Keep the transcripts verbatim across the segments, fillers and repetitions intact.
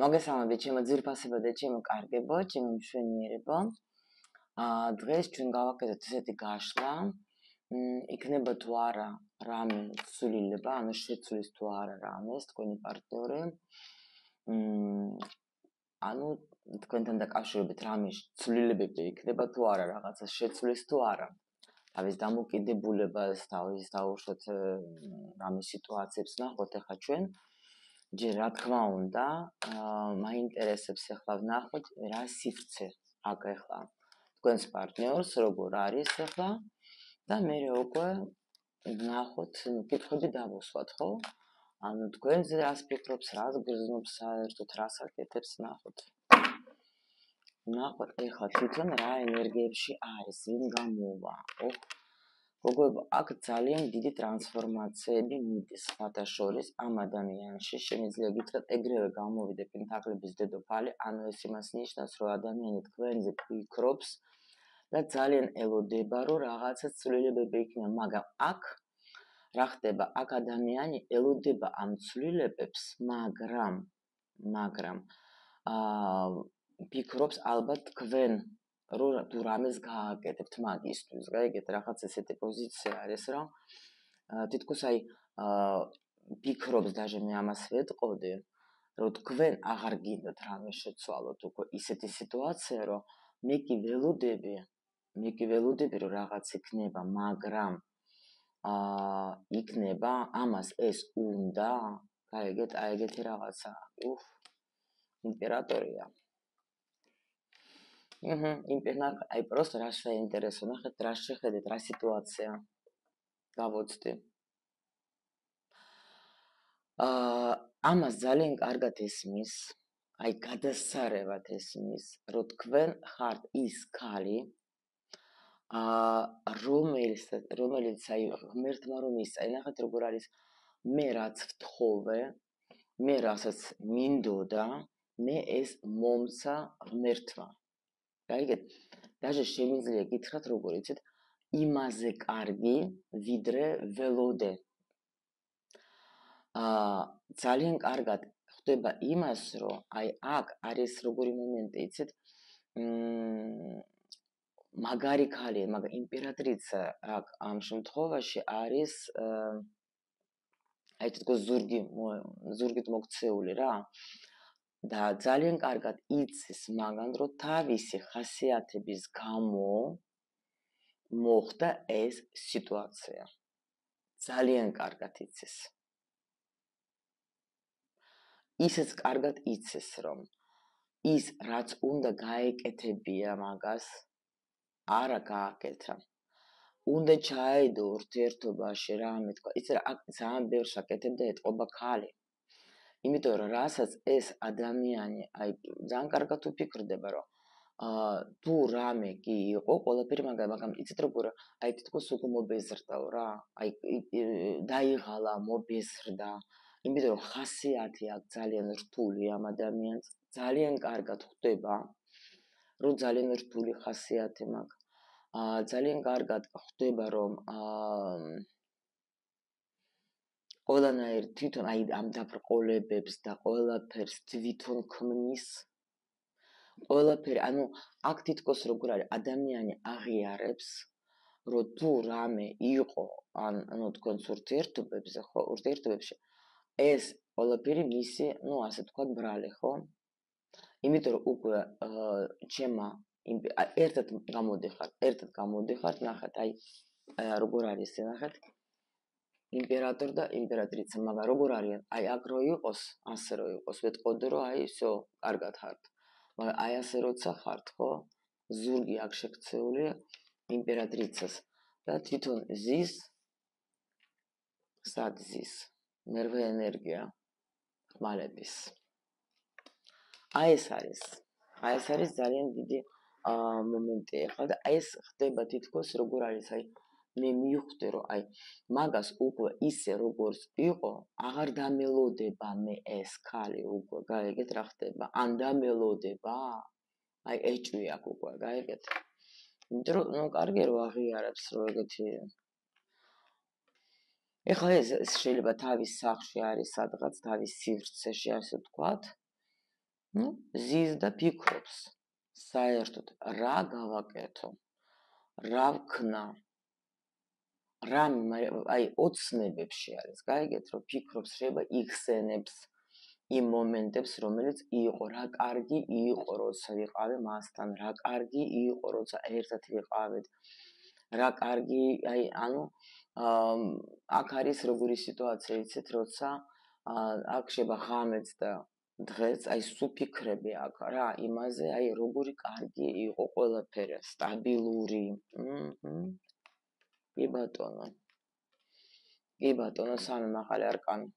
მოგესალმებით, ჩემო ძვირფასებო და ჩემო კარგებო, ჩემო მშვენიერებო. აა დღეს ჩვენ გავაკეთოთ ესეთი გაშლა. მ იქნება თუ არა რამე ცვლილება, ანუ შეცვლის თუ არა რამეს თქვენი პარტნიორი. მ ანუ თქვენთან დაკავშირებით რამე ცვლილებები იქნება თუ არა, რაღაცა შეცვლის თუ არა. თავის დამოკიდებულებას, თავის დაუშვათ რამე სიტუაციებს ნახოთ ახლა ჩვენ. ჯერ რა თქმა უნდა, მაინტერესებს ახლა ვნახოთ რა სივრცე აქ ახლა თქვენს პარტნიორს როგორ არის ახლა და მე უკვე ვნახოთ, კითხვები დავუსვათ, ხო? ანუ თქვენზე რას ფიქრობს, რას გრძნობს საერთოდ, რას აკეთებს, ვნახოთ. ვნახოთ ახლა თვითონ რა ენერგიებში არის, ვინ გამოვა. ოხ გოგოებო, აქ ძალიან დიდი ტრანსფორმაციები მიდის სხვათა შორის ამ ადამიანში. შემიძლია გითხრათ, ეგრევე გამოვიდა პენტაკლების დედოფალი, ანუ ეს იმას ნიშნავს, რომ ადამიანი თქვენზე ფიქრობს და ძალიან ელოდება, რომ რაღაცა ცვლილებები იქნება, მაგრამ აქ რა ხდება? აქ ადამიანი ელოდება ამ ცვლილებებს, მაგრამ მაგრამ აა ფიქრობს ალბათ თქვენ რომ თუ რამეს გააკეთებთ მაგისთვის, გაიგეთ, რაღაც ესეთი პოზიცია არის, რომ თითქოს აი ფიქრობს, даже მე ამას ვეტყოდი, რომ თქვენ აღარ გინდათ რამე შეცვალოთ, უკვე ისეთი სიტუაცია, რომ მე კი ველოდები, მე კი ველოდები, რომ რაღაც იქნება, მაგრამ აა იქნება, ამას ეს უნდა, გაიგეთ, აი ეგეთი რაღაცა, უხ, იმპერატორია. აჰა, იმპერატორ, აი просто რა შეინტერესო, ნახეთ, რა შეხედეთ, რა სიტუაცია გავოცდი. აა ამას ძალიან კარგად ესმის, აი გადასარევად ესმის, რომ თქვენ ხართ ის ქალი, აა რომელიც რომელიც აი ღმერთმა რომ ისწაი, ნახეთ როგორ არის, მე რაც ვთხოვე, მე რასაც მინდოდა, მე ეს მომცა ღმერთმა. გაიგეთ, даже შემიძლია გითხრათ როგორ იცით, იმაზე კარგი, ვიდრე ველოდე. აა ძალიან კარგად ხდება იმას, რომ აი აქ არის როგორი მომენტი, იცით, მ მაგარი ქალია, მაგრამ იმპერატრიცა აქ ამ შემთხვევაში არის აი თქო ზურგი ზურგით მოქცეული რა. და ძალიან კარგად იცის მაგან, რომ თავისი ხასიათების გამო მოხდა ეს სიტუაცია. ძალიან კარგად იცის. ისიც კარგად იცის, რომ ის რაც უნდა გაეკეთებია მაგას, არა გააკეთა. უნდა ჩაედო ურთიერთობაში რამე თქვა, იცი რა, აქ ძალიან ბევრს აკეთებდა ეტყობა ქალი. იმიტომ რომ რასაც ეს ადამიანი, აი ძალიან კარგად უფიქრდება, რომ აა თუ რამე კი იყო, ყველაფერი მაგა, მაგრამ იცით როგორ, აი თითქოს უკვე მობეზრდაო რა, აი დაიღალა, მობეზრდა. იმიტომ რომ ხასიათი აქვს ძალიან რთული ამ ადამიანს, ძალიან კარგად ხვდება, რომ ძალიან რთული ხასიათი მაქვს. აა ძალიან კარგად ხვდება, რომ აა ყველანაირ თვითონ აი ამ დაბრკოლებებს და ყველაფერს თვითონ ქმნის. ყველაფერი, ანუ აქ თითქოს როგორ არის, ადამიანი აღიარებს, რომ თუ რამე იყო, ანუ თქვენს ურთიერთობებზე, ხო, ურთიერთობებში ეს ყველაფერი მისი, ну, ასე თქვა, ბრალი, ხო? იმიტომ რომ უკვე ჩემმა ერთად გამოდიხართ, ერთად გამოდიხართ, ნახეთ, აი როგორ არის, ნახეთ. იმპერატორ და იმპერატრიცა, მაგრამ როგორ არიან? აი აქ რო იყოს, ასე რო იყოს, ვეტყოდი რომ აი всё, კარგად ხართ. მაგრამ აი ასე როცა ხართ, ხო? ზურგი აქ შექცეული იმპერატრიცას და თვითონ ზის, სად ზის? ნერვე ენერგია ხმალების. აი ეს არის. აი ეს არის ძალიან დიდი აა მომენტი ახლა და აი ეს ხდება თითქოს როგორ არის, აი მე მივხვდი რომ აი მაგას უკვე ისე როგორც იყო, აღარ დამელოდება მე ეს ქალი უკვე, გაიგეთ რა ხდება? ან დამელოდება? აი ეჭვი აქვს უკვე, გაიგეთ? იმიტომ რომ ნუ კარგი რომ აღიარებს რომ ეგეთი. ეხლა ეს შეიძლება თავის სახლში არის სადღაც, თავის სივრცეში, ასე ვთქვათ. ნუ ზის და ფიქრობს საერთოდ რა გავაკეთო, რა ვქნა, რა აი ოცნებებში არის, გაიგეთ, რომ ფიქრობს, შეიძლება იხსენებს იმ მომენტებს, რომელიც იყო, რა კარგი იყო, როცა ვიყავე მასთან, რა კარგი იყო, როცა ერთად ვიყავით, რა კარგი, აი, ანუ აქ არის როგორი სიტუაცია, იცით, როცა აქ შეიძლება ღამეც და დღეს, აი, სუფიქრები აქ რა, იმაზე, აი, როგორი კარგი იყო ყველაფერი, სტაბილური. კი ბატონო. კი ბატონო, სამი მაღალი არკანი.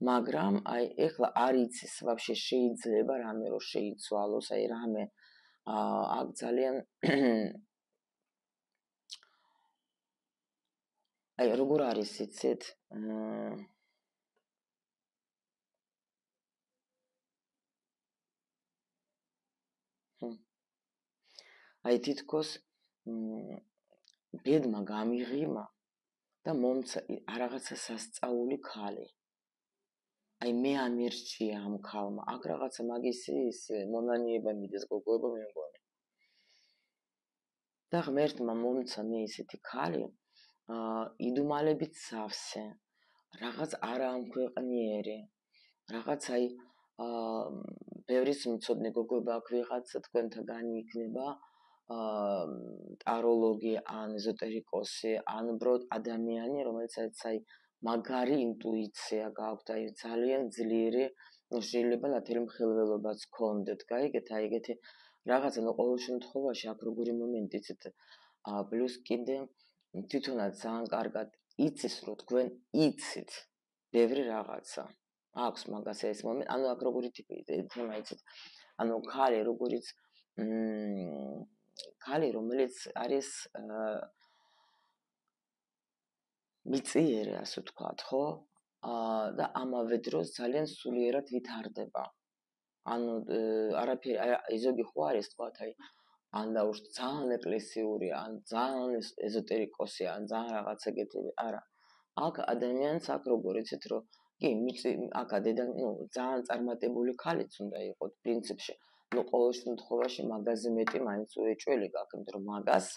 მაგრამ აი ეხლა არ იცის ვაფშე შეიძლება რამე რო შეიცვალოს, აი რამე აქ ძალიან აი როგორ არის იცით? აი თითქოს ბედმა გამიღიმა და მომცა რაღაცა სასწაული ქალი. აი მე ამერჩია ამ ქალმა, აქ რაღაცა მაგისი ის მონანიება მიდის გოგოება მე მგონი. და ღმერთმა მომცა მე ისეთი ქალი, აა იდუმალებით სავსე, რაღაც არა ამქვეყნიერი, რაღაც აი აა ბევრის მწოდნე გოგოება აქ ვიღაცა თქვენთაგანი იქნება, აა ტაროლოგი ან ეზოტერიკოსი, ან უბრალოდ ადამიანი, რომელიც აი მაგარი ინტუიცია გააქვთ, აი ძალიან ძლიერი, შეიძლება ნათელი მხილველობაც გქონდეთ, გაიგეთ, აი ეგეთი რაღაცა, ნუ ყოველ შემთხვევაში აქ როგორი მომენტი იცით, აა პლუს კიდე თვითონაც ძალიან კარგად იცის, რომ თქვენ იცით ბევრი რაღაცა. აქვს მაგას ეს მომენტი, ანუ აქ როგორი ტიპი თემა იცით, ანუ ქალი როგორიც მ ქალი რომელიც არის მიწიერი, ასე ვთქვათ, ხო? აა და ამავე დროს ძალიან სულიერად ვითარდება. ანუ არაფერი აი ზოგი ხო არის თქვათ აი ან დაუშვათ ძალიან ეკლესიური, ან ძალიან ეზოტერიკოსი, ან ძალიან რაღაც ეგეთი, არა. აქ ადამიანს აქ როგორ იცით, რომ კი მიწი აქ დედა, ნუ ძალიან წარმატებული ქალიც უნდა იყოს პრინციპში. ნუ ყოველ შემთხვევაში მაგაზე მეტი მაინც უეჭველი გაქვს, იმიტომ რომ მაგას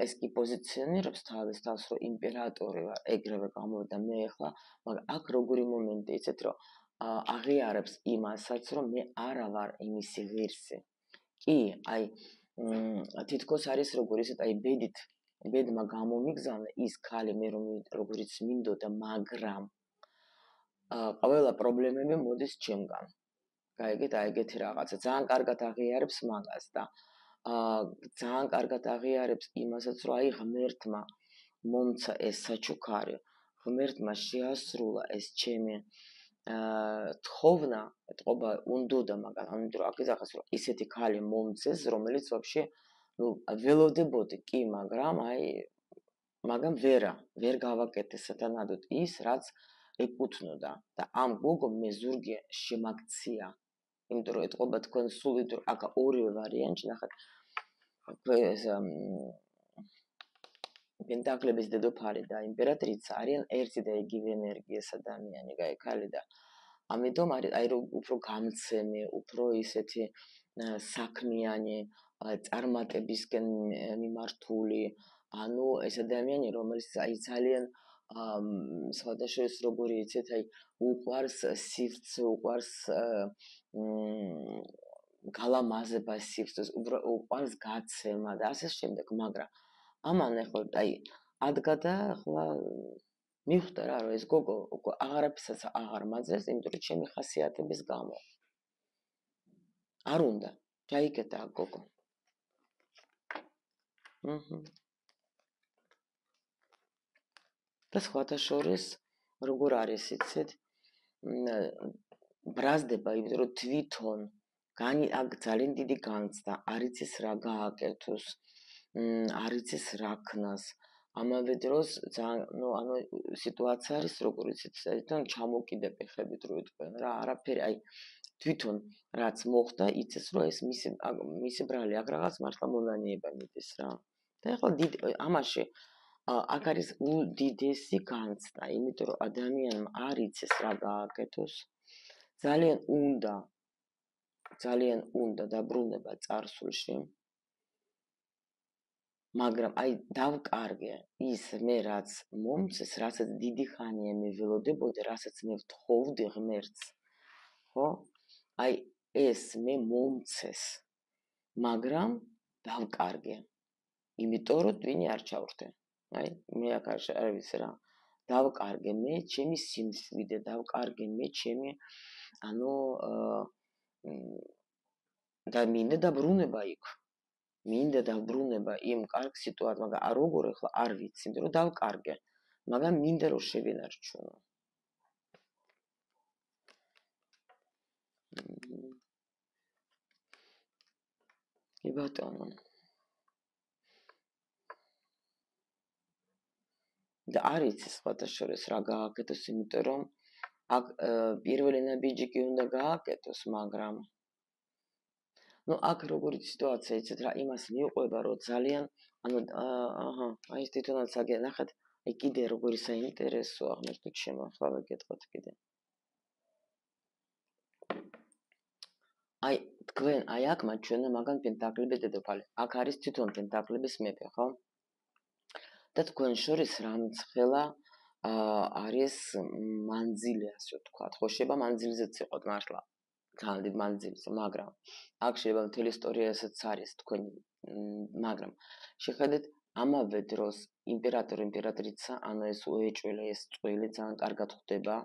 ეს კი პოზიციონირებს თავის თავს, რომ იმპერატორი ვარ, ეგრევე გამოვიდა მე ახლა, მაგრამ აქ როგორი მომენტი იცით, რომ აღიარებს იმასაც, რომ მე არა ვარ იმისი ღირსი. კი, აი თითქოს არის როგორ ისეთ, აი ბედით, ბედმა გამომიგზავნა ის ქალი მე რომ როგორიც მინდოდა, მაგრამ ყველა პრობლემები მოდის ჩემგან. გაიგეთ, აი ეგეთი რაღაცა, ძალიან კარგად აღიარებს მაგას და აა ძალიან კარგად აღიარებს იმასაც, რომ აი ღმერთმა მომცა ეს საჩუქარი, ღმერთმა შეასრულა ეს ჩემი აა თხოვნა, ეთყობა უნდოდა, მაგრამ ამიტომ აქ იზახეს, რომ ისეთი ქალი მომცეს, რომელიც ვაფშე ნუ ველოდებოდი კი, მაგრამ აი მაგრამ ვერა, ვერ გავაკეთე სათანადოდ ის, რაც ეკუთვნოდა და ამ გოგომ მე ზურგი შემაქცია. იმიტომ რომ ეთყობა თქვენ სულით, რომ აქ ორივე ვარიანტი ნახეთ. ეს პენტაკლების დედოფალი და იმპერატრიცა არიან ერთი და იგივე ენერგიის ადამიანი, გაიქალი და ამიტომ არის აი რომ უფრო გამცემი, უფრო ისეთი საქმიანი, წარმატებისკენ მიმართული, ანუ ეს ადამიანი, რომელიც აი ძალიან სხვადასხვა როგორი იცით, აი უყვარს სივრცე, უყვარს გალამაზება სივრცეს, უყვარს გაცემა და ასე შემდეგ, მაგრამ ამან ახლა აი ადგა და ახლა მივხვდა რა, რომ ეს გოგო უკვე აღარაფერსაც აღარ მაძლევს, იმიტომ რომ ჩემი ხასიათების გამო. არ უნდა, ჩაიკეტა გოგო. აჰა. და სხვათა შორის როგორ არის იცით? ბრაზდება, იმიტომ რომ თვითონ განი აქ ძალიან დიდი განცდა, არ იცის რა გააკეთოს, არ იცის რა ქნას. ამავე დროს ძალიან, ნუ ანუ სიტუაცია არის როგორ იცით, თვითონ ჩამოკიდები ხებით რო იტყვენ რა, არაფერი, აი თვითონ რაც მოხდა, იცის რომ ეს მისი მისი ბრალი აქ რაღაც მართლა მონანიება მიდის რა. და ახლა დიდ ამაში აქ არის უდიდესი განცდა, იმიტომ რომ ადამიანმა არ იცის რა გააკეთოს. ძალიან უნდა ძალიან უნდა დაბრუნება წარსულში, მაგრამ აი დავკარგე ის მე რაც მომცეს, რასაც დიდი ხანია მე ველოდებოდი, რასაც მე ვთხოვდი ღმერთს, ხო? აი ეს მე მომცეს, მაგრამ დავკარგე. იმიტომ რომ ვინი არ ჩავრთე. აი მე აქ არ ვიცი რა. დავკარგე მე ჩემი სიმშვიდე, დავკარგე მე ჩემი ანუ და მინდა დაბრუნება იქ. მინდა დაბრუნება იმ კარგ სიტუაციას, მაგრამ არ როგორ ახლა არ ვიცი, იმიტომ რომ დავკარგე. მაგრამ მინდა რომ შევინარჩუნო. კი ბატონო. და არ იცი სხვათა შორის რა გააკეთოს, იმიტომ რომ აქ პირველი ნაბიჯი კი უნდა გააკეთოს, მაგრამ ну აქ როგორი სიტუაცია იცით რა იმას მიყვება რომ ძალიან ანუ აჰა აი ეს თვითონაც აგე ნახეთ აი კიდე როგორი საინტერესოა ღმერთო ჩემო ახლა ვეკითხოთ კიდე აი თქვენ აი აქ მათ ჩვენ მაგან პენტაკლების დედოფალი აქ არის თვითონ პენტაკლების მეფე ხო და თქვენ შორის რამცხელა არის მანძილი ასე ვთქვათ ხო შეიძლება მანძილზეც იყოთ მართლა ძალიან დიდ მანძილზე, მაგრამ აქ შეიძლება მთელი ისტორია ესეც არის თქვენი, მაგრამ შეხედეთ ამავე დროს იმპერატორი იმპერატრიცა, ანუ ეს უეჭველი ეს წვილი ძალიან კარგად ხვდება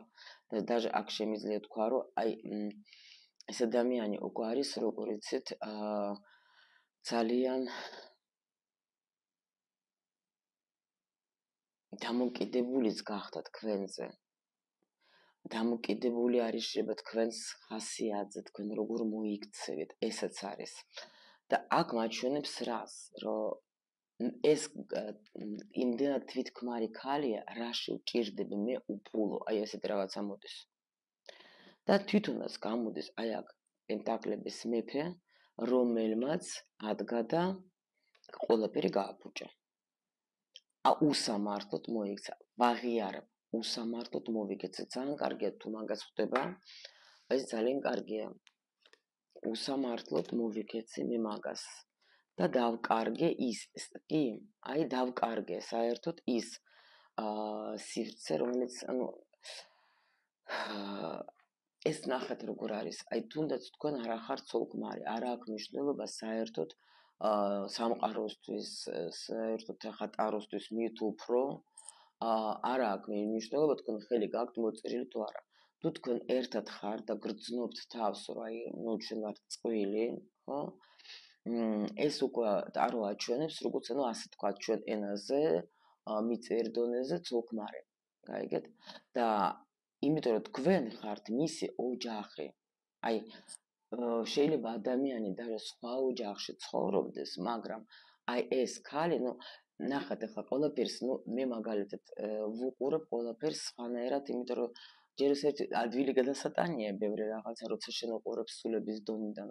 და даже აქ შემიძლია თქვა, რომ აი ეს ადამიანი უკვე არის, როგორ იცით, ძალიან დამოკიდებულიც გახდა თქვენზე. დამოკიდებული არის შეიძლება თქვენს ხასიათზე, თქვენ როგორ მოიქცევით, ესეც არის. და აქ მაჩვენებს რას, რომ ეს იმდენად თვითქმარი ქალია, რაში ვჭირდები მე უპულო, აი ესეთი რაღაცა მოდის. და თვითონაც გამოდის აი აქ პენტაკლების მეფე, რომელმაც ადგა და ყველაფერი გააფუჭა. ა უსამართლოდ მოიქცა, ვაღიარებ. უსამართლოდ მოვიქეცე, ძალიან კარგია თუ მაგას ხვდება, ეს ძალიან კარგია. უსამართლოდ მოვიქეცე მე მაგას და დავკარგე ის, კი, აი დავკარგე საერთოდ ის სივრცე, რომელიც ანუ ეს ნახეთ როგორ არის, აი თუნდაც თქვენ არ ახართ ცოლ-ქმარი, არ აქვს მნიშვნელობა საერთოდ სამყაროსთვის, საერთოდ ახლა ტაროსთვის მით უფრო არ აქვს მნიშვნელობა თქვენ ხელი გაქვთ მოწერილი თუ არა. თუ თქვენ ერთად ხართ და გრძნობთ თავს, რომ აი ჩვენ ვართ წყვილი, ხო? ეს უკვე ტარო აჩვენებს, როგორც ანუ ასე თქვა ჩვენ ენაზე, მიწიერ დონეზე ცოლ-ქმარი. გაიგეთ? და იმიტომ რომ თქვენ ხართ მისი ოჯახი. აი შეიძლება ადამიანი даже სხვა ოჯახში ცხოვრობდეს, მაგრამ აი ეს ქალი, ну ნახეთ ახლა ყველაფერს, ну მე მაგალითად ვუყურებ ყველაფერს სხვანაირად, იმიტომ რომ ჯერ ესეთი ადვილი გადასატანია ბევრი რაღაცა, როცა შენ უყურებ სულების დონიდან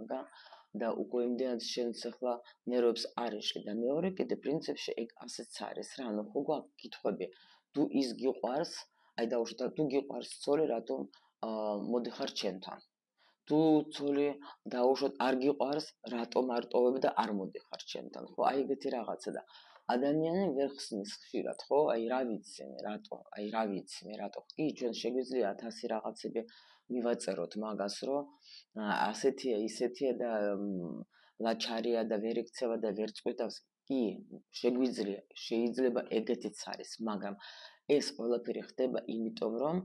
და უკვე იმდენად შენს ახლა ნერვებს არ ეშლი და მეორე კიდე პრინციპში ეგ ასეც არის რა, ანუ ხო გვაქვს კითხვები, თუ ის გიყვარს, აი დაუშვათ, თუ გიყვარს ცოლი, რატომ მოდიხარ ჩემთან? თუ ცოლი დაუშვათ არ გიყვარს, რატომ არ ტოვებ და არ მოდიხარ ჩემთან? ხო, აი ეგეთი რაღაცა და ადამიანი ვერ ხსნის ხშირად, ხო? აი რა ვიცი მე, რატო? აი რა ვიცი მე, რატო? კი, ჩვენ შეგვიძლია ათასი რაღაცები მივაწეროთ მაგას, რომ ასეთია, ისეთია და ლაჩარია და ვერ იქცევა და ვერ წყვიტავს. კი, შეგვიძლია, შეიძლება ეგეთიც არის, მაგრამ ეს ყველაფერი ხდება იმიტომ, რომ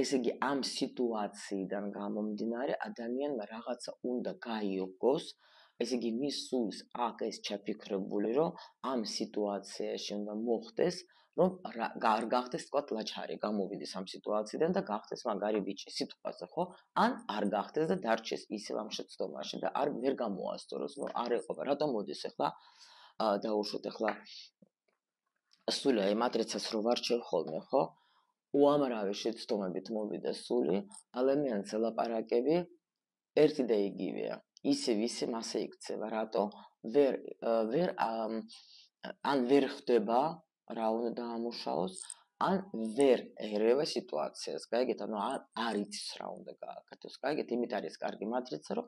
ესე იგი ამ სიტუაციიდან გამომდინარე ადამიანმა რაღაცა უნდა გაიოგოს, ესე იგი მის სულს აქ ეს ჩაფიქრებული, რომ ამ სიტუაციაში უნდა მოხდეს, რომ არ გახდეს თქვა ლაჩარი, გამოვიდეს ამ სიტუაციიდან და გახდეს მაგარი ბიჭი სიტყვაზე, ხო? ან არ გახდეს და დარჩეს ისევ ამ შეცდომაში და არ ვერ გამოასწოროს, რომ არ ეყობა, რატომ მოდის ახლა დაუშვათ ახლა სული აი მატრიცას რო ვარჩევ ხოლმე, ხო? უამრავი შეცდომებით მოვიდა სული, ადამიანს ელაპარაკები ერთი და იგივეა. ისევ ისე მასე იქცევა, რატო? ვერ ვერ ან ვერ ხდება რა უნდა დაამუშავოს, ან ვერ ერევა სიტუაციას, გაიგეთ, ანუ არ იცის რა უნდა გააკეთოს, გაიგეთ, იმით არის კარგი მატრიცა, რომ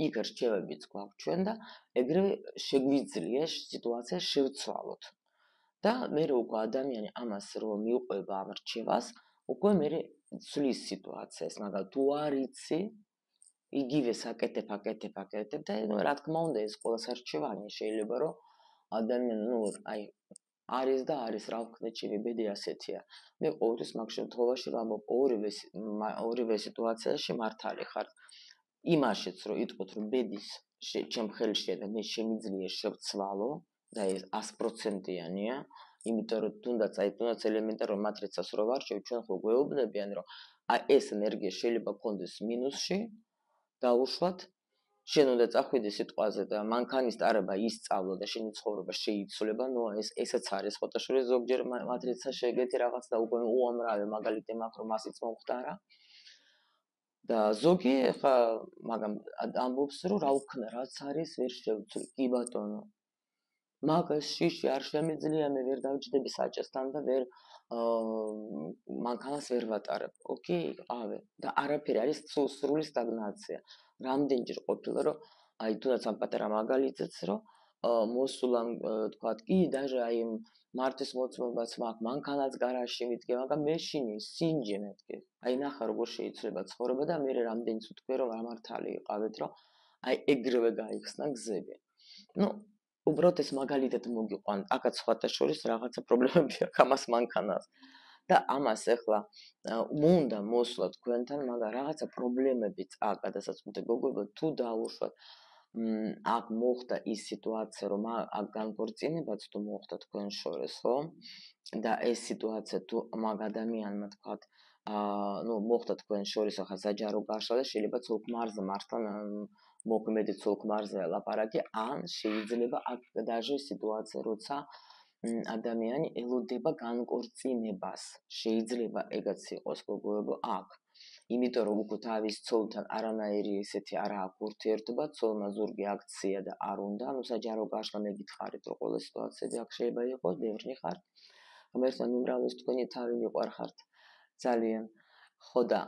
იქ რჩევებიც გვაქვს ჩვენ და ეგრევე შეგვიძლია სიტუაცია შევცვალოთ. და მე უკვე ადამიანი ამას რომ მიუყვება ამ რჩევას, უკვე მე ცვლის სიტუაციას, მაგრამ თუ არ იცი, იგივე საკეთებ, აკეთებ, აკეთებ და რა თქმა უნდა ეს ყველა სარჩევანია, შეიძლება რომ ადამიანი, ну, აი არის და არის რა ვქნეთ, შევიბედი ასეთია. მე ყოველთვის მაგ შემთხვევაში ვამბობ, ორივე ორივე სიტუაციაში მართალი ხარ. იმაშიც რომ იტყვით რომ ბედის ჩემ ხელშია და მე შემიძლია შევცვალო და ეს ას პროცენტიანია, იმიტომ რომ თუნდაც აი თუნდაც ელემენტარულ მატრიცას რო ვარჩევ, ჩვენ ხო გვეუბნებიან რომ აი ეს ენერგია შეიძლება გქონდეს მინუსში, დაუშვათ, შენ უნდა წახვიდე სიტყვაზე და მანქანის ტარება ისწავლო და შენი ცხოვრება შეიცვლება, ნუ ეს ესეც არის ფოტოშოპში ზოგჯერ მატრიცა შეგეთი რაღაც და უკვე უამრავი მაგალითი მაქვს რომ მასიც მომხდარა. და ზოგი ხა მაგამ ამბობს რომ რა ვქნა, რაც არის ვერ შევცვლი, კი ბატონო. მაგას შიში არ შემიძლია, მე ვერ დავჯდები საჭესთან და ვერ მანქანას ვერ ვატარებ. ოკეი, ყავე. და არაფერი არის სრული სტაგნაცია. რამდენჯერ ყოფილა რომ აი თუნდაც ამ პატარა მაგალითიც რომ მოსულან თქვათ კი даже აი მართვის მოწმობაც მაქვს, მანქანაც გარაჟში მიდგე, მაგრამ მეშინი სინჯე მეთქე. აი ნახა როგორ შეიცვლება ცხოვრება და მე რამდენიც ვთქვი რომ ამართალი იყავით რომ აი ეგრევე გაიხსნა გზები. ну უბრალოდ ეს მაგალითად მოგიყვან, აკაც სხვათა შორის რაღაცა პრობლემები აქვს ამას მანქანას. და ამას ახლა უნდა მოსვლა თქვენთან, მაგრამ რაღაცა პრობლემებიც აქვს, გადასაწყვეტი გოგოებო, თუ დაუშვათ, აქ მოხდა ის სიტუაცია, რომ აქ განქორწინებაც თუ მოხდა თქვენ შორის, ხო? და ეს სიტუაცია თუ მაგ ადამიანმა თქვათ, აა, ну, მოხდა თქვენ შორის ახლა საჯარო გაშლა და შეიძლება ცოლ-ქმარზე მართლა მოქმედი ცოლ-ქმარზე ლაპარაკი, ან შეიძლება აქ даже სიტუაცია, როცა ადამიანი ელოდება განკორწინებას. შეიძლება ეგაც იყოს გოგოებო აქ. იმიტომ რომ უკვე თავის ცოლთან არანაირი ესეთი არ აქვს ურთიერთობა, ცოლმა ზურგი აქცია და არ უნდა, ну საჯარო გაშლა მეგითხარით რომ ყველა სიტუაციები აქ შეიძლება იყოს, ბევრი ხარ. ღმერთმა მიმრავლეს თქვენი თავი მიყვარხართ ძალიან. ხო და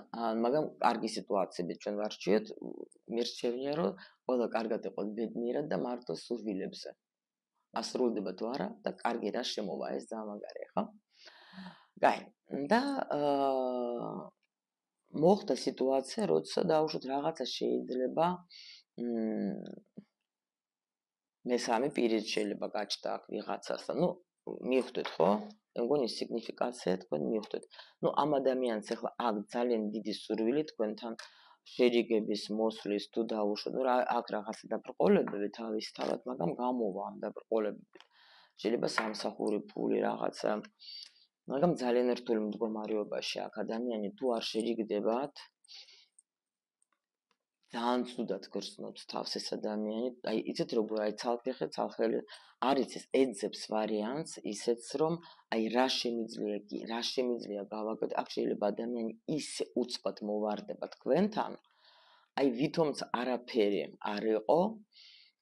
მაგრამ კარგი სიტუაციები ჩვენ ვარჩიოთ, მირჩევნია რომ ყველა კარგად იყოს ბედნიერად და მართოს სურვილებზე. ასრულდება თუ არა და კარგი რა შემოვა ეს ძალიან მაგარია, ხო? გაი. და აა მოხდა სიტუაცია, როცა დაუშვათ რაღაცა შეიძლება მესამე პირი შეიძლება გაჩნდა აქ ვიღაცას და ნუ მივხვდეთ, ხო? მე მგონი სიგნიფიკაცია თქვენ მივხვდეთ. ნუ ამ ადამიანს ახლა აქ ძალიან დიდი სურვილი თქვენთან შერიგების მოსვლის თუ დაუშვათ, ნუ აქ რაღაცა დაბრყოლებები თავის თავად, მაგრამ გამოვა ამ დაბრყოლებებით. შეიძლება სამსახური ფული რაღაცა, მაგრამ ძალიან რთული მდგომარეობაში აქ ადამიანი თუ არ შერიგდებათ, ძალიან ცუდად გრძნობს თავს ეს ადამიანი. აი იცით როგორ აი ცალფეხე ცალხელი არის ეს ეძებს ვარიანტს ისეც რომ აი რა შემიძლია კი რა შემიძლია გავაკეთო, აქ შეიძლება ადამიანი ისე უცბად მოვარდება თქვენთან, აი ვითომც არაფერი არ იყო,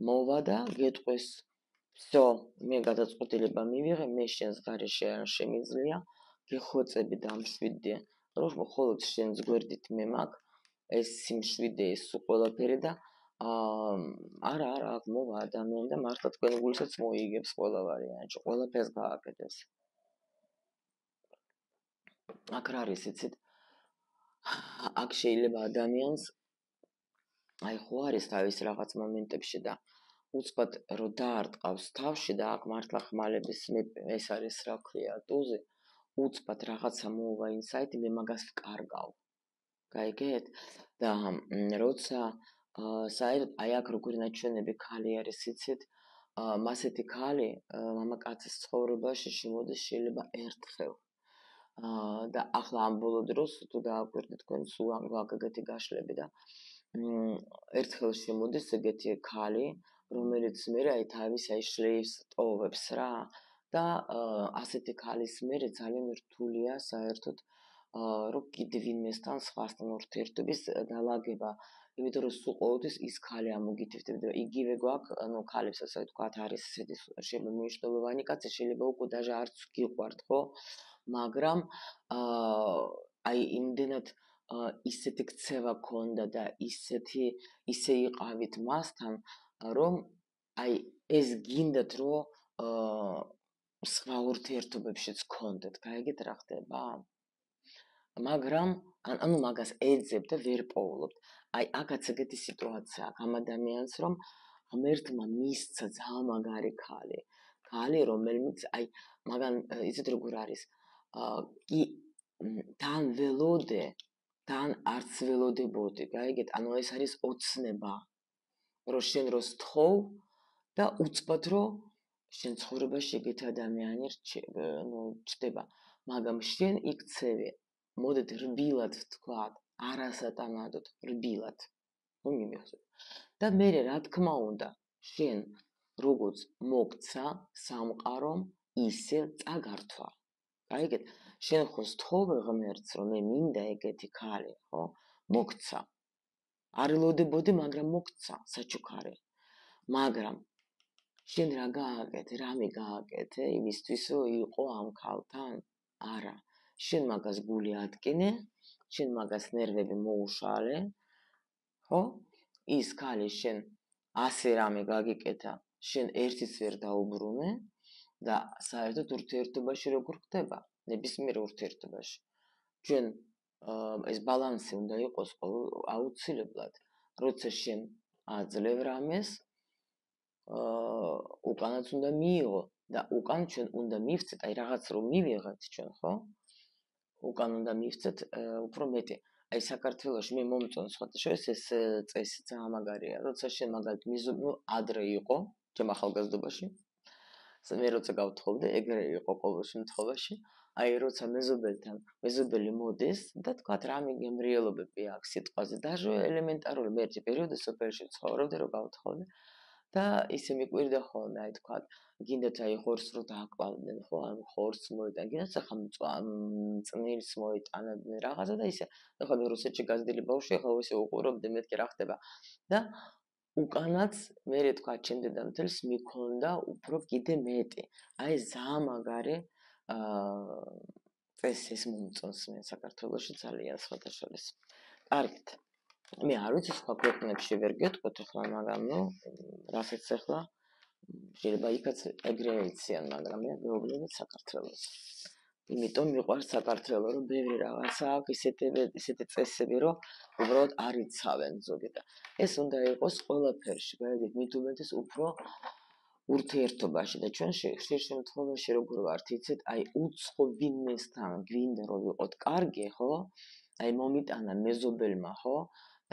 მოვა და გეტყვეს всё, მე გადაწყვეტილება მივიღე, მე შენს გარეშე არ შემიძლია, გეხვეწები დამშვიდე, რომ მხოლოდ შენს გვერდით მე მაქვს ეს სიმშვიდე, ეს ყველაფერი და აა არა, არა, აქ მოვა ადამიანი და მართლა თქვენ გულსაც მოიგებს ყველა ვარიანტი, ყველაფერს გააკეთებს. აქ რა არის, იცით? აქ შეიძლება ადამიანს აი ხო არის თავის რაღაც მომენტებში და უცბად რო დაარტყავს თავში და აქ მართლა ხმალების ეს არის რა ქვია, ტუზი, უცბად რაღაცა მოვა ინსაიტი, მე მაგას ვკარგავ. გაიგეთ? და როცა საერთოდ აი აქ როგორი ნაჩვენები ქალი არის, იცით? მასეთი ქალი მამაკაცის ცხოვრებაში შემოდის შეიძლება ერთხელ. და ახლა ამ ბოლო დროს თუ დააკვირდით თქვენ სულ ამ გაგეთი გაშლები და ერთხელ შემოდის ეგეთი ქალი, რომელიც მე აი თავის აი შლეივს ტოვებს რა და ასეთი ქალის მე ძალიან რთულია საერთოდ რომ კიდევ ვინმესთან სხვასთან ურთიერთობის დალაგება, იმიტომ რომ სულ ყოველთვის ის ქალი ამოგითითებდება. იგივე გვაქვს, ანუ ქალებსაც ვთქვათ არის ესეთი შეიძლება მნიშვნელოვანი კაცი, შეიძლება უკვე даже არც გიყვართ, ხო? მაგრამ აი იმდენად ისეთი ქცევა ქონდა და ისეთი ისე იყავით მასთან, რომ აი ეს გინდათ რომ სხვა ურთიერთობებშიც გქონდეთ, გაიგეთ რა ხდება? მაგრამ ანუ მაგას ეძებ და ვერ პოულობთ. აი აქაც ეგეთი სიტუაცია აქვს ამ ადამიანს, რომ ღმერთმა მისცა ძალიან მაგარი ქალი. ქალი, რომელმიც აი მაგან იცით როგორ არის? კი თან ველოდე, თან არც ველოდებოდი, გაიგეთ? ანუ ეს არის ოცნება. რომ შენ როს თხოვ და უცბად რომ შენ ცხოვრებაში ეგეთი ადამიანი რჩება. მაგრამ შენ იქცევი მოდით რბილად ვთქვათ, არასატანადოდ რბილად. რომ იმიხსოვ. და მე რა თქმა უნდა, შენ როგორც მოგცა სამყარომ, ისე წაგართვა. გაიგეთ? შენ ხო სთხოვე ღმერთს, რომ მე მინდა ეგეთი ქალი, ხო? მოგცა. არ ელოდებოდი, მაგრამ მოგცა, საჩუქარი. მაგრამ შენ რა გააკეთე, რამე გააკეთე იმისთვის, რომ იყო ამ ქალთან? არა. შენ მაგას გული ატკინე, შენ მაგას ნერვები მოუშალე, ხო? ის ქალი შენ ასე რამე გაგიკეთა, შენ ერთიც ვერ დაუბრუნე და საერთოდ ურთიერთობაში როგორ ხდება? ნებისმიერ ურთიერთობაში. ჩვენ ეს ბალანსი უნდა იყოს აუცილებლად, როცა შენ აძლევ რამეს, უკანაც უნდა მიიღო და უკან ჩვენ უნდა მივცეთ, აი რაღაც რომ მივიღეთ ჩვენ, ხო? უკან უნდა მივცეთ უფრო მეტი. აი საქართველოში მე მომწონს სხვათა შორის ეს წესი ძალიან მაგარია, როცა შენ მაგალითად მიზობნო ადრე იყო, ჩემ ახალგაზრდობაში. მე როცა გავთხოვდი, ეგრე იყო ყოველ შემთხვევაში. აი როცა მეზობელთან, მეზობელი მოდის და თქვა რამე გემრიელობები აქვს სიტყვაზე, даже ელემენტარული მე ერთი პერიოდი სოფელში ცხოვრობდი, რომ გავთხოვდი და ისე მიკვირდა ხოლმე, აი თქვა, გინდათ აი ხორცს რო დააკლავდნენ, ხო, ან ხორცს მოიტან, გინდათ ახლა წნილს მოიტანებდნენ რაღაცა და ისე, ახლა მე რუსეთში გაზრდილი ბავშვი, ახლა ისე უყურებდი, მეთქი რა ხდება. და უკანაც მე თქვა ჩემ დედამთილს მიქონდა უფრო კიდე მეტი. აი ძალიან მაგარი წესი ეს მომწონს მე საქართველოში ძალიან სხვათა შორის. კარგით. მე არ ვიცი სხვა ქვეყნებში ვერ გეტყვით ახლა, მაგრამ ნუ რასაც ახლა შეიძლება იქაც ეგრე ეციან, მაგრამ მე მეუბნებით საქართველოს. იმიტომ მიყვარს საქართველო, რომ ბევრი რაღაცა აქვს, ისეთი ისეთი წესები, რომ უბრალოდ არ იცავენ ზოგი და ეს უნდა იყოს ყველაფერში, გაიგეთ, მით უმეტეს უფრო ურთიერთობაში და ჩვენ ხშირ შემთხვევაში როგორ ვართ, იცით, აი უცხო ვინმესთან გვინდა რომ ვიყოთ კარგი, ხო? აი მომიტანა მეზობელმა, ხო?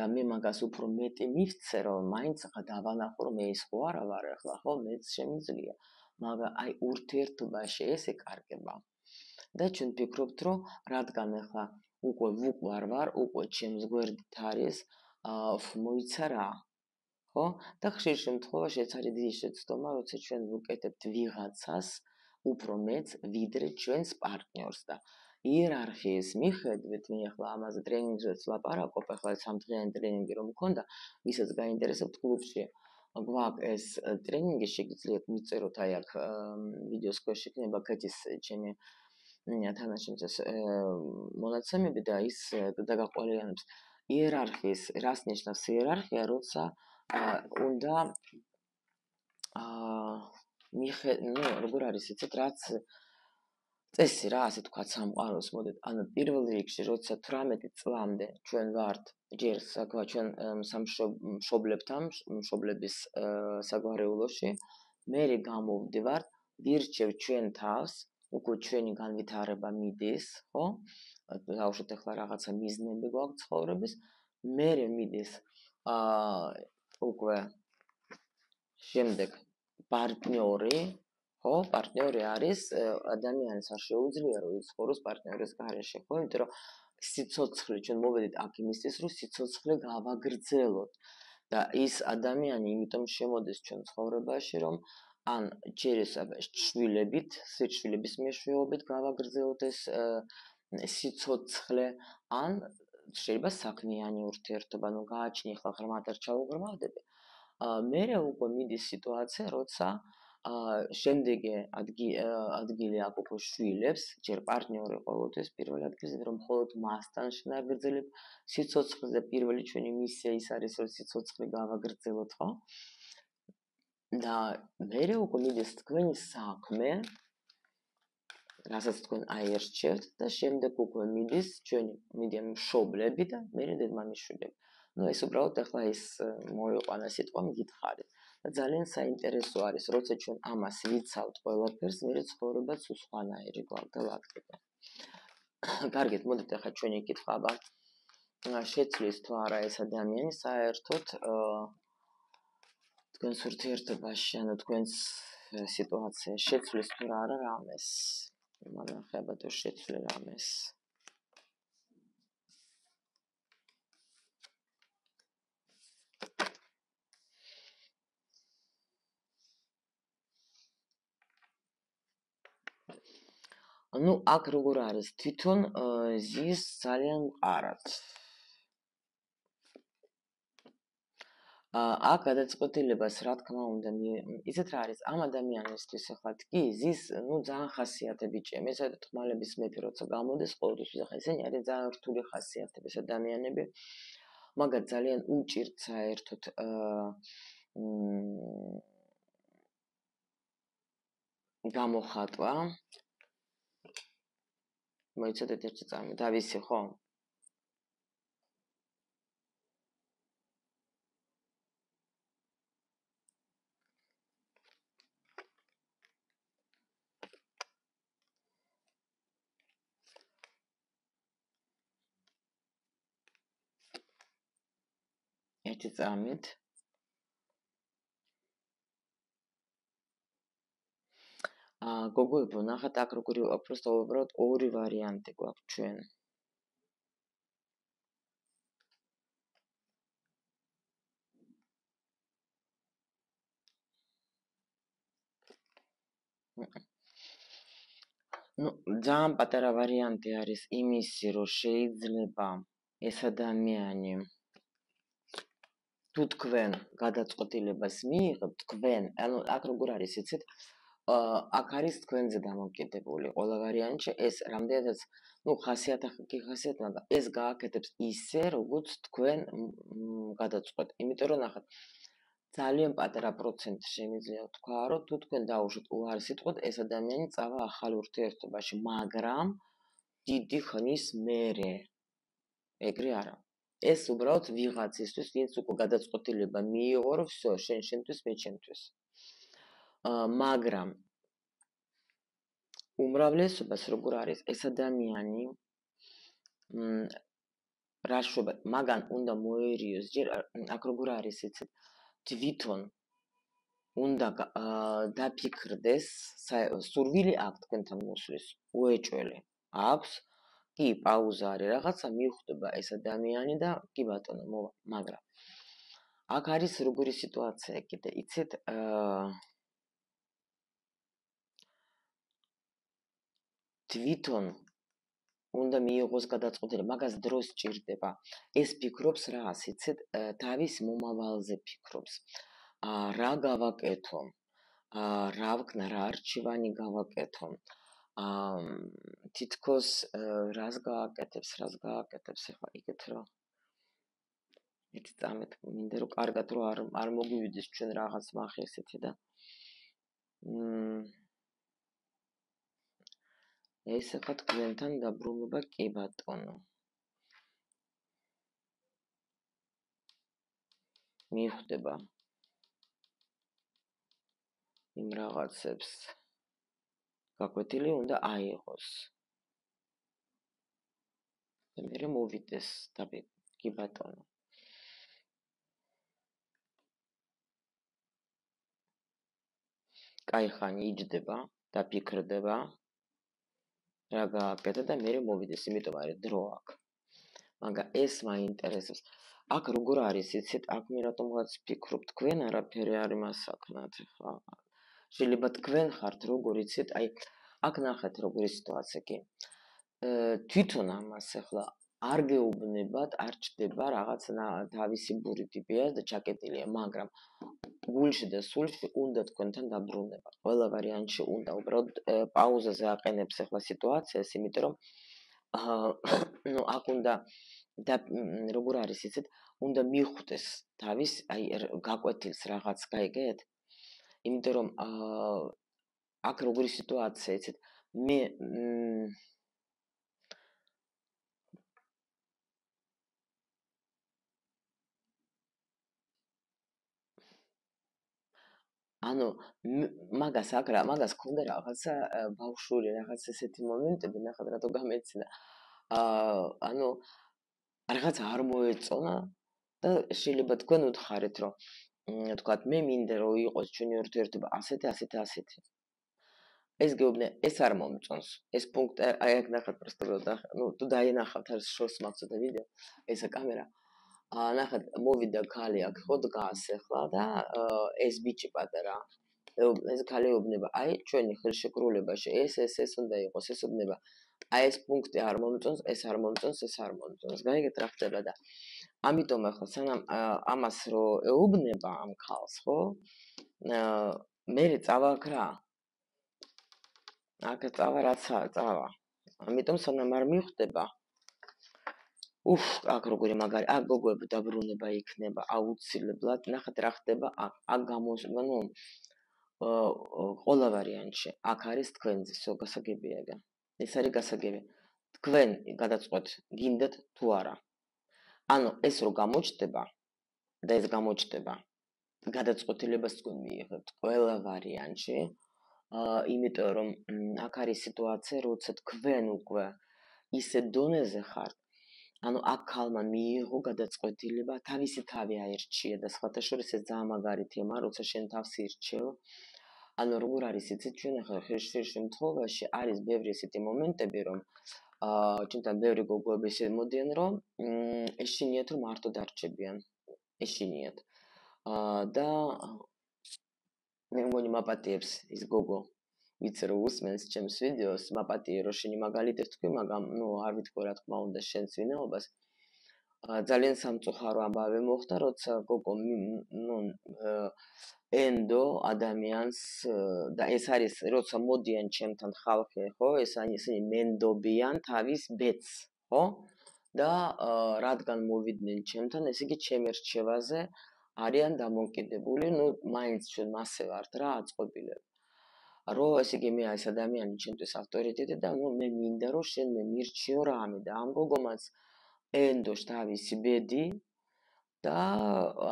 და მე მაგას უფრო მეტი მივცე, რომ მაინც ახლა დავანახო, რომ მე ის ხო არა ვარ ახლა, ხო? მეც შემიძლია. მაგრამ აი ურთიერთობაში ეს ეკარგება. და ჩვენ ვფიქრობთ, რომ რადგან ახლა უკვე ვუყვარ ვარ, უკვე ჩემს გვერდით არის, მოიცა რა. ხო? და ხშირ შემთხვევაში ეს არის დიდი შეცდომა, როცა ჩვენ ვუკეთებთ ვიღაცას უფრო მეც, ვიდრე ჩვენს პარტნიორს და იერარქიის მიხედვით, მე ახლა ამაზე ტრენინგზეც ლაპარაკობ, ახლა სამდღიანი ტრენინგი რომ მქონდა, ვისაც გაინტერესებთ კლუბში გვაქვს ეს ტრენინგი, შეგიძლიათ მიწეროთ აი აქ ვიდეოს ქვეშ იქნება კეთის ჩემი თანაშემწეს მონაცემები და ის დაგაყოლიანებს იერარქიის, რას ნიშნავს იერარქია, როცა უნდა აა მიხე, ნუ როგორ არის იცით, რაც წესი რა, ასე თქვა სამყაროს მოდით, ანუ პირველ რიგში, როცა თვრამეტი წლამდე ჩვენ ვართ ჯერ საკვა ჩვენ სამშობლებთან, მშობლების საგვარეულოში, მერე გამოვდივართ, ვირჩევ ჩვენ თავს, უკვე ჩვენი განვითარება მიდის, ხო? დავუშვათ ახლა რაღაცა მიზნები გვაქვს ცხოვრების, მერე მიდის აა უკვე შემდეგ პარტნიორი, ხო, პარტნიორი არის ადამიანს არ შეუძლია რომ იცხოვროს პარტნიორის გარეშე, ხო, იმიტომ რომ სიცოცხლე ჩვენ მოვედით აქ იმისთვის, რომ სიცოცხლე გავაგრძელოთ და ის ადამიანი იმიტომ შემოდის ჩვენ ცხოვრებაში, რომ ან შვილებით, სიცოცხლების მეშვეობით გავაგრძელოთ ეს სიცოცხლე, ან შეიძლება საქმიანი ურთიერთობა, ნუ გააჩნი ხალხ ღრმად არ ჩავუღრმავდები. მერე უკვე მიდის სიტუაცია, როცა შემდეგი ადგილი აქ უკვე შვილებს, ჯერ პარტნიორი ყოველთვის პირველ ადგილზე, რომ მხოლოდ მასთან შეგრძელებ სიცოცხლეს და პირველი ჩვენი მისია ის არის, რომ სიცოცხლე გავაგრძელოთ, ხო? და მერე უკვე მიდის თქვენი საქმე, რასაც თქვენ აერჩევთ და შემდეგ უკვე მიდის ჩვენი მიდიან მშობლები და მერე დედმამიშვილები. ნუ ეს უბრალოდ ახლა ის მოიყვანა სიტყვა მიგითხარით. და ძალიან საინტერესო არის, როცა ჩვენ ამას ვიცავთ ყველაფერს, მერე ცხოვრებაც უსხვანაირი გვაგდალაგდება. კარგით, მოდით ახლა ჩვენი კითხვა აბა შეცვლის თუ არა ეს ადამიანი საერთოდ თქვენს ურთიერთობაში, ანუ თქვენს სიტუაციაში შეცვლის თუ არა რამეს. მაგრამ ხება თუ შეცვლი რამეს. ну, აქ როგორ არის, თვითონ ზის ძალიან მყარად. აქ გადაწყვეტილებას, რა თქმა უნდა, ისეთ რა არის, ამ ადამიანისთვის ახლა კი ზის, ну, ძალიან ხასიათები ჭემ, ესა თქმალების მეფე როცა გამოდის, ყოველთვის ახლა ესენი არის ძალიან რთული ხასიათების ადამიანები, მაგრამ ძალიან უჭირთ საერთოდ გამოხატვა. მოიცადეთ ერთი წამი, დავისი ხო? ერთი წამით. აა გოგოებო, ნახეთ აქ როგორი უბრალოდ უბრალოდ ორი ვარიანტი გვაქვს ჩვენ. ну, ძალიან პატარა ვარიანტი არის იმისი, რომ შეიძლება ეს ადამიანი თუ თქვენ გადაწყვეტილებას მიიღებთ, თქვენ, ანუ აქ როგორ არის, იცით? აქ არის თქვენზე დამოკიდებული ყველა ვარიანტში, ეს რამდენადაც, ну, ხასიათი კი ხასიათი, მაგრამ ეს გააკეთებს ისე, როგორც თქვენ გადაწყვეტ. იმიტომ რომ ნახეთ, ძალიან პატარა პროცენტი შემიძლია თქვა, რომ თუ თქვენ დაუშვით უარი სიტყვით, ეს ადამიანი წავა ახალ ურთიერთობაში, მაგრამ დიდი ხნის მერე. ეგრე არა. ეს უბრალოდ ვიღაცისთვის, ვინც უკვე გადაწყვეტილება მიიღო, რომ всё, შენ შენთვის, მე ჩემთვის. მაგრამ უმრავლესობას როგორ არის, ეს ადამიანი რაშვება, მაგან უნდა მოერიოს, ჯერ აქ როგორ არის, იცით? თვითონ უნდა დაფიქრდეს, სურვილი აქვს თქვენთან მოსვლის, უეჭველი აქვს, კი, პაუზა არის, რაღაცა მიხვდება ეს ადამიანი და კი ბატონო, მოვა, მაგრამ აქ არის როგორი სიტუაცია კიდე, იცით? თვითონ უნდა მიიღოს გადაწყვეტილება, მაგას დროს ჭირდება. ეს ფიქრობს რას, იცით? თავის მომავალზე ფიქრობს. რა გავაკეთო? რა ვქნა, რა არჩევანი გავაკეთო? თითქოს რას გააკეთებს, რას გააკეთებს, ეხლა იგეთ რა. ერთი წამით მინდა რომ კარგად რომ არ არ მოგვივიდეს ჩვენ რაღაც მახესეთი და ეს ახლა თქვენთან დაბრუნება კი ბატონო. მიხვდება იმ რაღაცებს გაკვეთილი უნდა აიღოს. და მერე მოვიდეს და კი ბატონო. კაი ხანი იჯდება, დაფიქრდება, რა გააკეთა და მერე მოვიდეს, იმიტომ არის დრო აქვს. მაგრამ ეს მაინტერესებს. აქ როგორ არის, იცით, აქ მე რატომღაც ფიქრობ, თქვენ არაფერი არ იმასაკნათ, ხა. შეიძლება თქვენ ხართ როგორ იცით, აი, აქ ნახეთ როგორი სიტუაცია კი. თვითონ ამას ახლა არ გეუბნებათ, არ ჩდება რაღაც თავისი ბურითი პიას და ჩაკეტილია, მაგრამ გულში და სულში უნდა თქვენთან დაბრუნება. ყველა ვარიანტში უნდა, უბრალოდ პაუზაზე აყენებს ახლა სიტუაციას, იმიტომ რომ ну აქ უნდა და როგორ არის იცით, უნდა მიხვდეს თავის, აი გაკვეთილს რაღაც, გაიგეთ? იმიტომ რომ აქ როგორი სიტუაცია იცით, მე ანუ მაგას აკრა, მაგას ქონდა რაღაცა ბავშვური რაღაც ესეთი მომენტები, ნახეთ რატო გამეცინა. აა ანუ რაღაც არ მოეწონა და შეიძლება თქვენ უთხარით, რომ თქვათ მე მინდა რომ იყოს ჩვენი ურთიერთობა ასეთი, ასეთი, ასეთი. ეს გეუბნე, ეს არ მომწონს. ეს პუნქტი აი აქ ნახეთ просто რომ ნუ თუ დაინახავთ არის შორს მაგცოდა ვიდეო, ესა კამერა. აა ნახეთ, მოვიდა ქალი აქ ხო დგას ახლა და ეს ბიჭი პატარა ეს ქალი ეუბნება, აი ჩვენი ხელშეკრულებაში ეს ეს ეს უნდა იყოს, ეს უბნება. აი ეს პუნქტი არ მომწონს, ეს არ მომწონს, ეს არ მომწონს. გაიგეთ რა ხდება და ამიტომ ახლა სანამ ამას რო ეუბნება ამ ქალს, ხო? აა მე წავა აქ რა. აქ წავა რაცა წავა. ამიტომ სანამ არ მიხვდება უფ, აქ როგორი მაგარი, აქ გოგოები დაბრუნება იქნება აუცილებლად. ნახეთ რა ხდება, აქ გამოს, ну, ყველა ვარიანტში. აქ არის თქვენზე, всё გასაგებია ეგა. ეს არის გასაგები. თქვენ გადაწყვეტ, გინდათ თუ არა. ანუ ეს რო გამოჩნდება და ეს გამოჩნდება, გადაწყვეტილებას თქვენ მიიღებთ ყველა ვარიანტში. აა, იმიტომ რომ აქ არის სიტუაცია, როცა თქვენ უკვე ისე დონეზე ხართ, ანუ აქ ქალმა მიიღო გადაწყვეტილება, თავისი თავი აირჩია და სხვათა შორის ეს ძალიან მაგარი თემა, როცა შენ თავს ირჩევ. ანუ როგორ არის იცით, ჩვენ ახლა ხშირ შემთხვევაში არის ბევრი ესეთი მომენტები, რომ აა ჩვენთან ბევრი გოგოები ისე მოდიან, რომ ეშინიათ რომ მარტო დარჩებიან. ეშინიათ. აა და მე მგონი მაპატიებს ის გოგო. ვიცი რომ უსმენს ჩემს ვიდეოს, მაპატიე რომ შენი მაგალითებს თქვი, მაგრამ ნუ არ ვიტყვი რა თქმა უნდა შენს ვინაობას. ძალიან სამწუხარო ამბავი მოხდა, როცა გოგო ნუ ენდო ადამიანს და ეს არის როცა მოდიან ჩემთან ხალხი, ხო? ეს ისინი მენდობიან თავის ბედს, ხო? და რადგან მოვიდნენ ჩემთან, ესე იგი ჩემი რჩევაზე არიან დამოკიდებული, ნუ მაინც ჩვენ მასე ვართ რა აწყობილები. რომ ესე იგი მე ეს ადამიანი ჩემთვის ავტორიტეტი და ნუ მე მინდა რომ შენ მე მირჩიო რამე და ამ გოგომაც ენდოშ თავისი ბედი და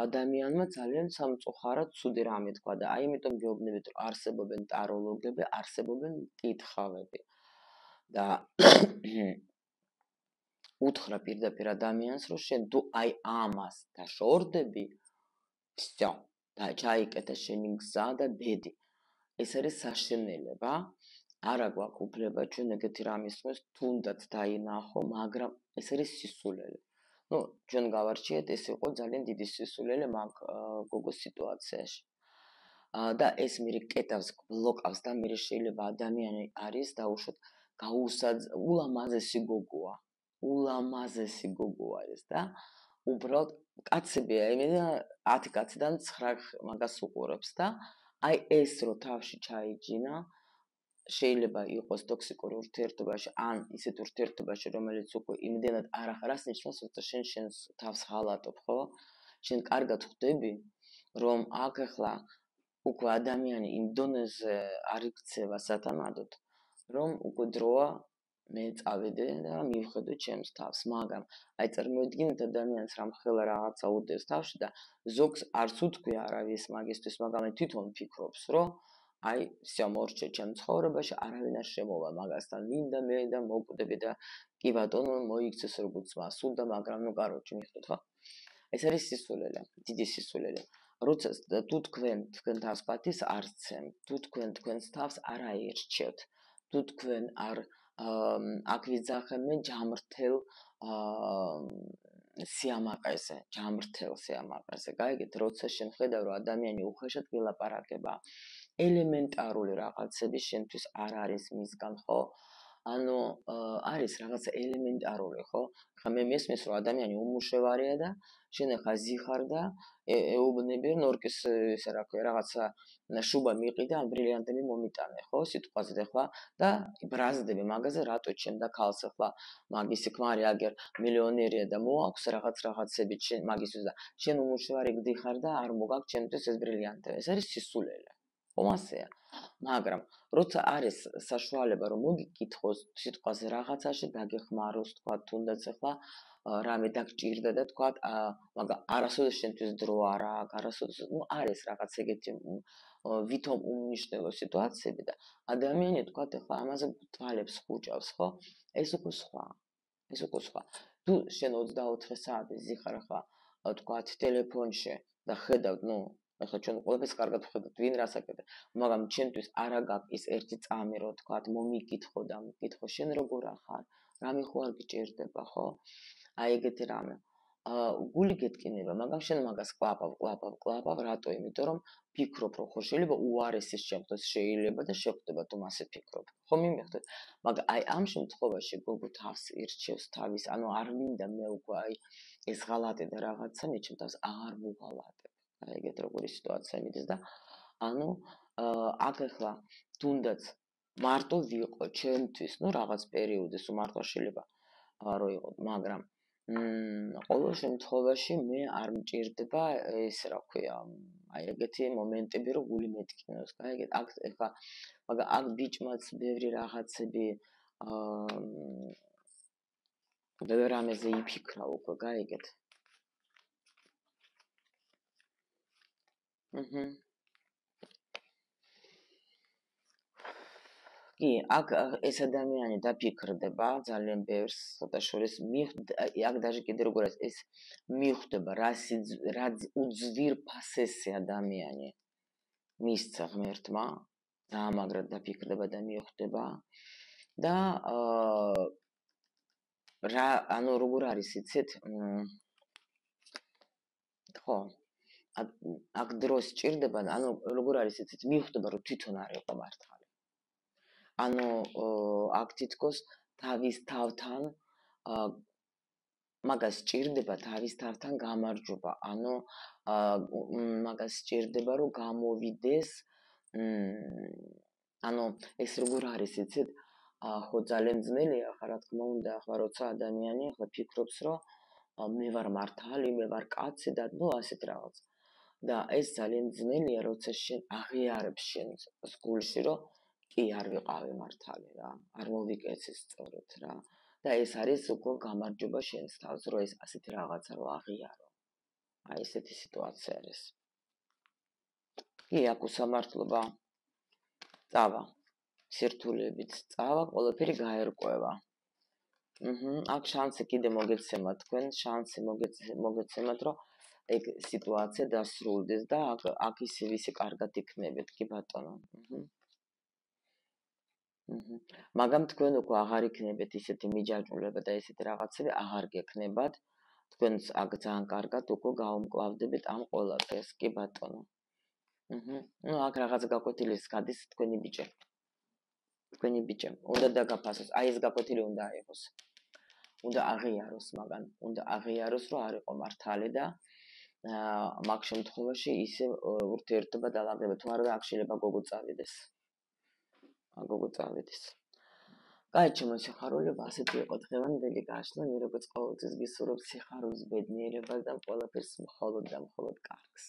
ადამიანმა ძალიან სამწუხაროდ ცუდი რამე თქვა და აი იმიტომ გეუბნებით რომ არსებობენ ტაროლოგები, არსებობენ მკითხავები და უთხრა პირდაპირ ადამიანს რომ შენ თუ აი ამას დაშორდები, всё, და ჩაიკეტა შენი გზა და ბედი. ეს არის საშენელება, არა გვაქვს უფლება ჩვენ ეგეთი რამის ხმას თუნდაც დაინახო, მაგრამ ეს არის სისულელე. ну, ჩვენ გავარჩიეთ, ეს იყო ძალიან დიდი სისულელე მაგ გოგოს სიტუაციაში. და ეს მერე კეტავს, ბლოკავს და მერე შეიძლება ადამიანი არის დაუშვათ გაუსაძ ულამაზესი გოგოა. ულამაზესი გოგო არის და უბრალოდ კაცებია, იმენა ათი კაციდან ცხრა მაგას უყურებს და აი ეს რო თავში ჩაიჯინა, შეიძლება იყოს ტოქსიკური ურთიერთობაში, ან ისეთ ურთიერთობაში, რომელიც უკვე იმდენად არ ახარას ნიშნავს, რომ შენ შენს თავს ღალატობ, ხო? შენ კარგად ხვდები, რომ აქ ახლა უკვე ადამიანი იმ დონეზე არ იქცევა სათანადოდ, რომ უკვე დროა მე წავიდე და მივხედო ჩემს თავს, მაგრამ აი წარმოიდგინეთ ადამიანს რამ ხელა რაღაცა უდევს თავში და ზოგს არც უთქვი არავის მაგისთვის, მაგრამ თვითონ ფიქრობს, რომ აი всё მორჩე ჩემ ცხოვრებაში, არავინ არ შემოვა მაგასთან, მინდა მე და მოკვდები და კი ბატონო მოიქცეს როგორც მასულდა, მაგრამ ნუ კაროჩე მიხვდეთ ხო? ეს არის სისულელე, დიდი სისულელე. როცა თუ თქვენ თქვენ თავს პატის არ სცემთ, თუ თქვენ თქვენს თავს არ აირჩევთ, თუ თქვენ არ აქ ვიძახებენ ჯამრთელ სიამაყეზე, ჯამრთელ სიამაყეზე. გაიგეთ, როცა შენ ხედავ რომ ადამიანი უხეშად გელაპარაკება, ელემენტარული რაღაცები შენთვის არ არის მისგან, ხო? ანუ არის რაღაცა ელემენტარული, ხო? ხა მე მესმის რომ ადამიანი უმუშევარია და შენ ახლა ზიხარ და ეუბნები ნორკის ესე რა ქვია რაღაცა შუბა მიყიდა ან ბრილიანტები მომიტანე, ხო? სიტყვაზე ახლა და ბრაზდები მაგაზე რატო ჩემდა ქალს ახლა მაგისი ქმარი აგერ მილიონერია და მოაქვს რაღაც რაღაცები შენ მაგისთვის და შენ უმუშევარი გდიხარ და არ მოგაქვს ჩემთვის ეს ბრილიანტები. ეს არის სისულელე. ხომ ასეა? მაგრამ როცა არის საშუალება რომ მოგიკითხოს სიტყვაზე რაღაცაში დაგეხმაროს თქვა თუნდაც ახლა რამე დაგჭირდა და თქვა მაგრამ არასოდეს შენთვის დრო არ აქვს არასოდეს ნუ არის რაღაც ეგეთი ვითომ უმნიშვნელო სიტუაციები და ადამიანი თქვა ახლა ამაზე თვალებს ხუჭავს ხო ეს უკვე სხვა ეს უკვე სხვა თუ შენ ოცდაოთხი საათი ზიხარ ახლა თქვა ტელეფონში და ხედავ ნუ ახლა ჩვენ ყველაფერს კარგად ვხედავთ, ვინ რას აკეთებს, მაგრამ ჩემთვის არა გაქვს ის ერთი წამი, რომ თქვა, მომიკითხო და მიკითხო, შენ როგორ ახარ, რამე ხო არ გიჭირდება, ხო? აი ეგეთი რამე. აა გული გეტკინება, მაგრამ შენ მაგას კლაპავ, კლაპავ, კლაპავ, რატო? იმიტომ რომ ფიქრობ, რომ ხო შეიძლება უარესის შემთხვევით შეიძლება და შეხვდება თუ მასე ფიქრობ. ხო მიმიხდეთ, მაგრამ აი ამ შემთხვევაში გოგო თავს ირჩევს თავის, ანუ არ მინდა მე უკვე აი ეს ღალატი და რაღაცა მე ჩემ თავს აღარ ვუღალატებ. აი ეგეთ როგორი სიტუაცია მიდის და ანუ აქ ახლა თუნდაც მარტო ვიყო ჩემთვის, ნუ რაღაც პერიოდის მარტო შეიძლება რო იყო, მაგრამ მ ყოველ შემთხვევაში მე არ მჭირდება ეს რა ქვია, აი ეგეთი მომენტები რომ გული მეტკინოს, აი ეგეთ აქ ახლა მაგრამ აქ ბიჭმაც ბევრი რაღაცები აა ბევრ რამეზე იფიქრა უკვე, გაიგეთ. აჰა. კი, აქ ეს ადამიანი დაფიქრდება ძალიან ბევრს, ცოტა შორის აქ даже კიდე როგორ არის ეს მიხვდება რა რა უძვირფასესი ადამიანი მისცა ღმერთმა, დაამაგრად დაფიქრდება და მიხვდება და აა რა ანუ როგორ არის იცით? ხო აქ დროს ჭირდება, ანუ როგორ არის იცით, მიხვდება რომ თვითონ არ იყო მართალი. ანუ აქ თითქოს თავის თავთან მაგას ჭირდება თავის თავთან გამარჯობა, ანუ მაგას ჭირდება რომ გამოვიდეს, ანუ ეს როგორ არის იცით, ხო ძალიან ძნელია, ხა რა თქმა უნდა, ახლა როცა ადამიანი ახლა ფიქრობს რომ მე ვარ მართალი, მე ვარ კაცი და ნუ ასეთ რაღაც. და ეს ძალიან ძნელია, როცა შენ აღიარებს შენ გულში რომ კი არ ვიყავი მართალი რა, არ მოვიკეცი სწორად რა. და ეს არის უკვე გამარჯობა შენს თავს, რომ ეს ასეთი რაღაცა რო აღიარო. აი ესეთი სიტუაცია არის. კი, აქ უსამართლობა წავა. სირთულეებით წავა, ყველაფერი გაერკვევა. აჰა, აქ შანსი კიდე მოგეცემა თქვენ, შანსი მოგეცემათ, რომ ეგ სიტუაცია დასრულდეს და აქ აქ ისე ვისი კარგად იქნებით, კი ბატონო. აჰა. მაგრამ თქვენ უკვე აღარ იქნებით ისეთი მიჯაჭვულება და ესეთი რაღაცები აღარ გექნებათ. თქვენს აქ ძალიან კარგად უკვე გაუმკლავდებით ამ ყველაფერს, კი ბატონო. აჰა. ნუ აქ რაღაც გაკვეთილის გადის თქვენი ბიჭი. თქვენი ბიჭი. უნდა დაგაფასოს, აი ეს გაკვეთილი უნდა აიღოს. უნდა აღიაროს მაგან, უნდა აღიაროს, რომ არ იყო მართალი და მაგ შემთხვევაში ისე ურთიერთობა დაალაგდება, თუ არა აქ შეიძლება გოგო წავიდეს. გოგო წავიდეს. კაი, ჩემო სიხარულებო, ასეთი იყო დღევანდელი გაშლა, მე როგორც ყოველთვის გისურვებ სიხარულს, ბედნიერებას და ყველაფერს მხოლოდ და მხოლოდ კარგს.